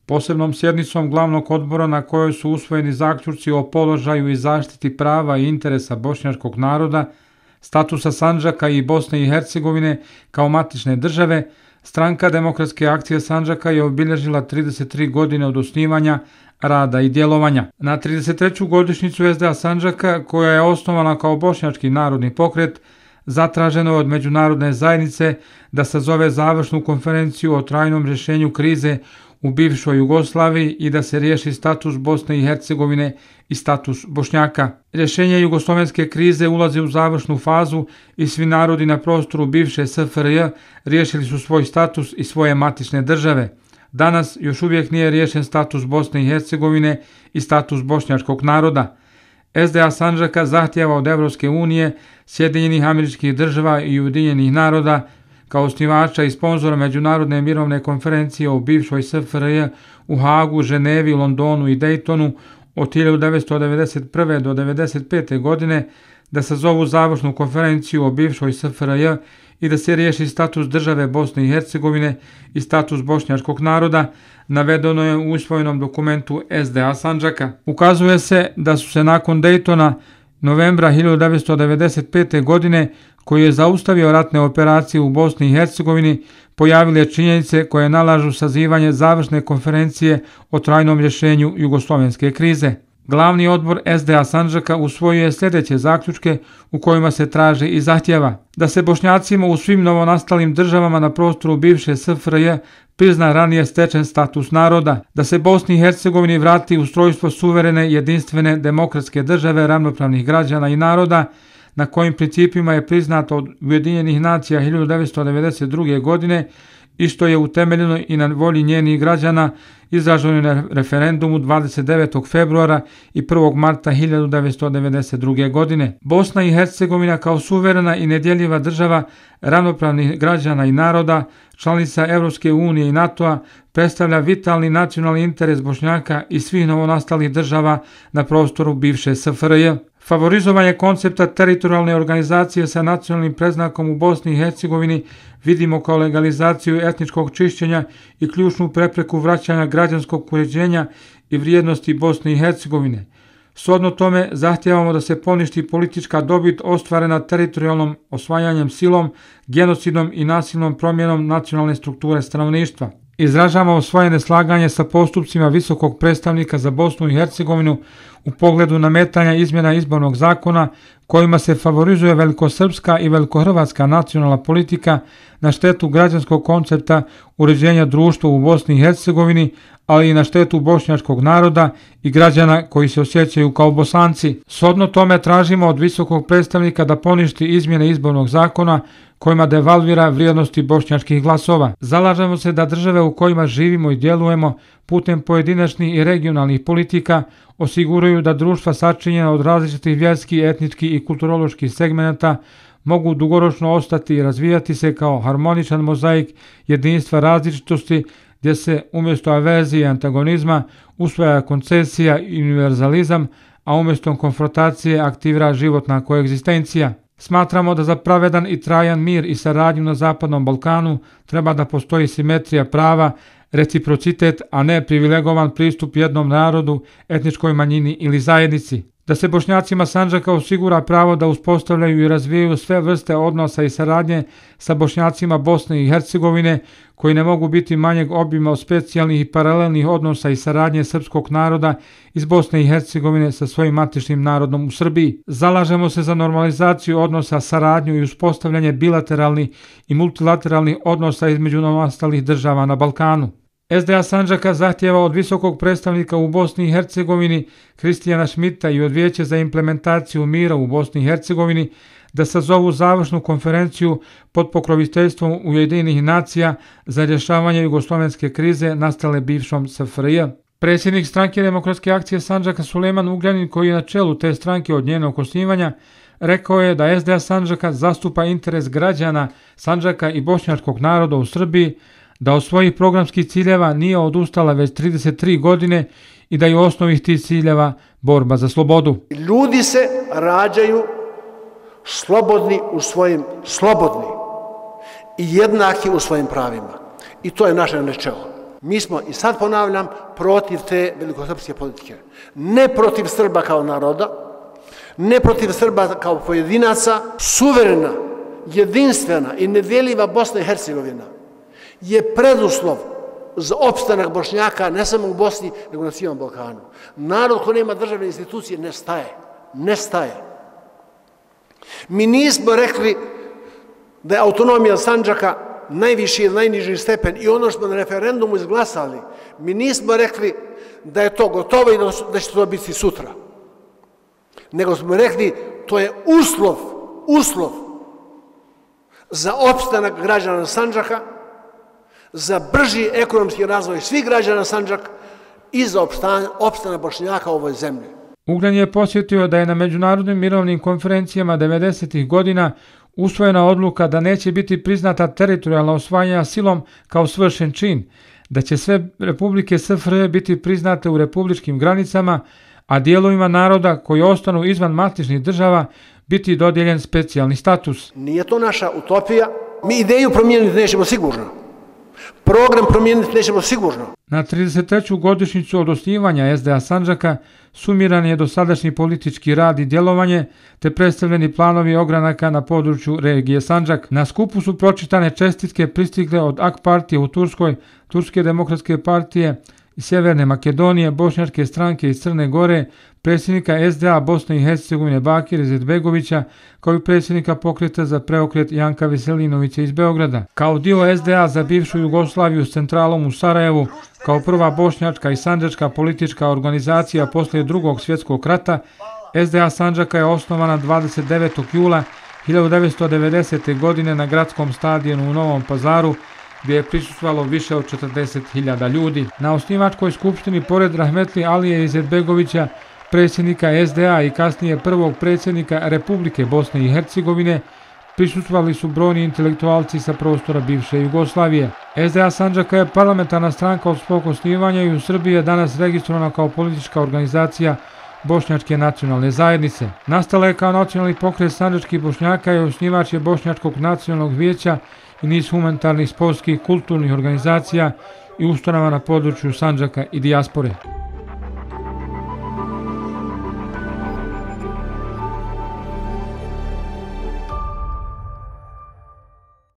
Posebnom sjednicom glavnog odbora na kojoj su usvojeni zaključci o položaju i zaštiti prava i interesa bošnjačkog naroda, statusa Sandžaka i Bosne i Hercegovine kao matične države, Stranka Demokratske akcije Sandžaka je obilježila 33 godine od osnivanja, rada i djelovanja. Na 33. godišnjicu SDA Sandžaka, koja je osnovana kao bošnjački narodni pokret, zatraženo je od međunarodne zajednice da sazove završnu konferenciju o trajnom rješenju krize u bivšoj Jugoslaviji i da se riješi status Bosne i Hercegovine i status Bošnjaka. Rješenje jugoslovenske krize ulazi u završnu fazu i svi narodi na prostoru bivše SFRJ riješili su svoj status i svoje matične države. Danas još uvijek nije riješen status Bosne i Hercegovine i status bošnjačkog naroda. SDA Sandžaka zahtijeva od Evropske unije, Sjedinjenih Američkih Država i Ujedinjenih naroda kao osnivača i sponzora Međunarodne mirovne konferencije o bivšoj SFRJ u Hagu, Ženevi, Londonu i Dejtonu od 1991. do 1995. godine da sazovu završnu konferenciju o bivšoj SFRJ i da se riješi status države Bosne i Hercegovine i status bošnjačkog naroda, navedeno je u usvojenom dokumentu SDA Sandžaka. Ukazuje se da su se nakon Dejtona novembra 1995. godine, koji je zaustavio ratne operacije u Bosni i Hercegovini, pojavile činjenice koje nalažu sazivanje završne konferencije o trajnom rješenju jugoslovenske krize. Glavni odbor SDA Sandžaka usvojio je sljedeće zaključke u kojima se traži i zahtjeva da se Bošnjacima u svim novonastalim državama na prostoru bivše SFRJ prizna ranije stečen status naroda, da se Bosni i Hercegovini vrati ustrojstvo suverene, jedinstvene, demokratske države ravnopravnih građana i naroda, na kojim principima je priznato od Ujedinjenih nacija 1992. godine i što je utemeljeno i na volji njenih građana izraženo na referendumu 29. februara i 1. marta 1992. godine. Bosna i Hercegovina kao suverena i nedjeljiva država ravnopravnih građana i naroda, članica Evropske unije i NATO-a, predstavlja vitalni nacionalni interes Bošnjaka i svih novonastalih država na prostoru bivše SFRJ. Favorizovanje koncepta teritorijalne organizacije sa nacionalnim predznakom u Bosni i Hercegovini vidimo kao legalizaciju etničkog čišćenja i ključnu prepreku vraćanja građanskog uređenja i vrijednosti Bosne i Hercegovine. Shodno tome zahtijevamo da se poništi politička dobit ostvarena teritorijalnom osvajanjem silom, genocidom i nasilnom promjenom nacionalne strukture stanovništva. Izražavamo svoje neslaganje sa postupcima visokog predstavnika za Bosnu i Hercegovinu u pogledu nametanja izmjena izbornog zakona kojima se favorizuje velikosrpska i velikohrvatska nacionalna politika na štetu građanskog koncepta uređenja društva u Bosni i Hercegovini, ali i na štetu bošnjačkog naroda i građana koji se osjećaju kao Bosanci. Shodno tome tražimo od visokog predstavnika da poništi izmjene izbornog zakona kojima devalvira vrijednosti bošnjačkih glasova. Zalažemo se da države u kojima živimo i djelujemo putem pojedinačnih i regionalnih politika osiguraju da društva sačinjena od različitih vjerskih, etničkih i kulturoloških segmenata mogu dugoročno ostati i razvijati se kao harmoničan mozaik jedinstva različitosti gdje se umjesto averzije i antagonizma usvaja koncesija i univerzalizam, a umjesto konfrontacije aktivira životna koegzistencija. Smatramo da za pravedan i trajan mir i saradnju na Zapadnom Balkanu treba da postoji simetrija prava, reciprocitet, a ne privilegovan pristup jednom narodu, etničkoj manjini ili zajednici. Da se Bošnjacima Sandžaka osigura pravo da uspostavljaju i razvijaju sve vrste odnosa i saradnje sa Bošnjacima Bosne i Hercegovine, koji ne mogu biti manjeg obima od specijalnih i paralelnih odnosa i saradnje srpskog naroda iz Bosne i Hercegovine sa svojim matičnim narodom u Srbiji. Zalažemo se za normalizaciju odnosa, saradnju i uspostavljanje bilateralnih i multilateralnih odnosa između novonastalih država na Balkanu. SDA Sandžaka zahtijeva od visokog predstavnika u Bosni i Hercegovini Kristijana Šmita i od Vijeća za implementaciju mira u Bosni i Hercegovini da sazovu završnu konferenciju pod pokroviteljstvom Ujedinjenih nacija za rješavanje jugoslovenske krize nastale bivšom SFRJ. Predsjednik Stranke Demokratske akcije Sandžaka Sulejman Ugljanin, koji je na čelu te stranke od njenog osnivanja, rekao je da SDA Sandžaka zastupa interes građana Sandžaka i bošnjačkog naroda u Srbiji, da od svojih programskih ciljeva nije odustala već 33 godine i da je u osnovi tih ciljeva borba za slobodu. Ljudi se rađaju slobodni i jednaki u svojim pravima. I to je naše načelo. Mi smo, i sad ponavljam, protiv te velikosrpske politike. Ne protiv Srba kao naroda, ne protiv Srba kao pojedinaca. Suverena, jedinstvena i nedjeljiva Bosna i Hercegovina je preduslov za opstanak Bošnjaka ne samo u Bosni, nego na cijelom Balkanu. Narod ko nema državne institucije ne staje. Mi nismo rekli da je autonomija Sandžaka najviši ili najniži stepen i ono što smo na referendumu izglasali, mi nismo rekli da je to gotovo i da će to biti sutra. Nego smo rekli to je uslov za opstanak građana Sandžaka, za brži ekonomski razvoj svih građana Sandžaka i za opstanak Bošnjaka u ovoj zemlji. Ugljan je posjetio da je na međunarodnim mirovnim konferencijama 90. godina usvojena odluka da neće biti priznata teritorijalna osvajanja silom kao svršen čin, da će sve republike SFRJ biti priznate u republičkim granicama, a dijelovima naroda koji ostanu izvan matičnih država biti dodijeljen specijalni status. Nije to naša utopija. Mi ideju promijeniti nećemo sigurno. Program promijeniti nećemo sigurno. Na 33. godišnjicu od osnivanja SDA Sandžaka sumiran je dosadašnji politički rad i djelovanje te predstavljeni planovi ogranaka na području regije Sandžak. Na skupu su pročitane čestitke pristigle od AK partije u Turskoj, Turske demokratske partije iz Sjeverne Makedonije, Bošnjačke stranke iz Crne Gore, predsjednika SDA Bosne i Hercegovine Bakira Izetbegovića, kao i predsjednika Pokreta za preokret Janka Veselinovića iz Beograda. Kao dio SDA za bivšu Jugoslaviju s centralom u Sarajevu, kao prva bošnjačka i sandžačka politička organizacija poslije Drugog svjetskog rata, SDA Sandžaka je osnovana 29. jula 1990. godine na gradskom stadionu u Novom Pazaru, gdje je prisustvovalo više od 40.000 ljudi. Na osnivačkoj skupštini, pored rahmetli Alije Izetbegovića, predsjednika SDA i kasnije prvog predsjednika Republike Bosne i Hercegovine, prisustvovali su brojni intelektualci sa prostora bivše Jugoslavije. SDA Sandžaka je parlamentarna stranka od svog osnivanja i u Srbiji je danas registrovana kao politička organizacija Bošnjačke nacionalne zajednice. Nastala je kao nacionalni pokret sandžačkih Bošnjaka i osnivač je Bošnjačkog nacionalnog vijeća i niz humanitarnih, sportskih, kulturnih organizacija i ustanova na području Sandžaka i dijaspore.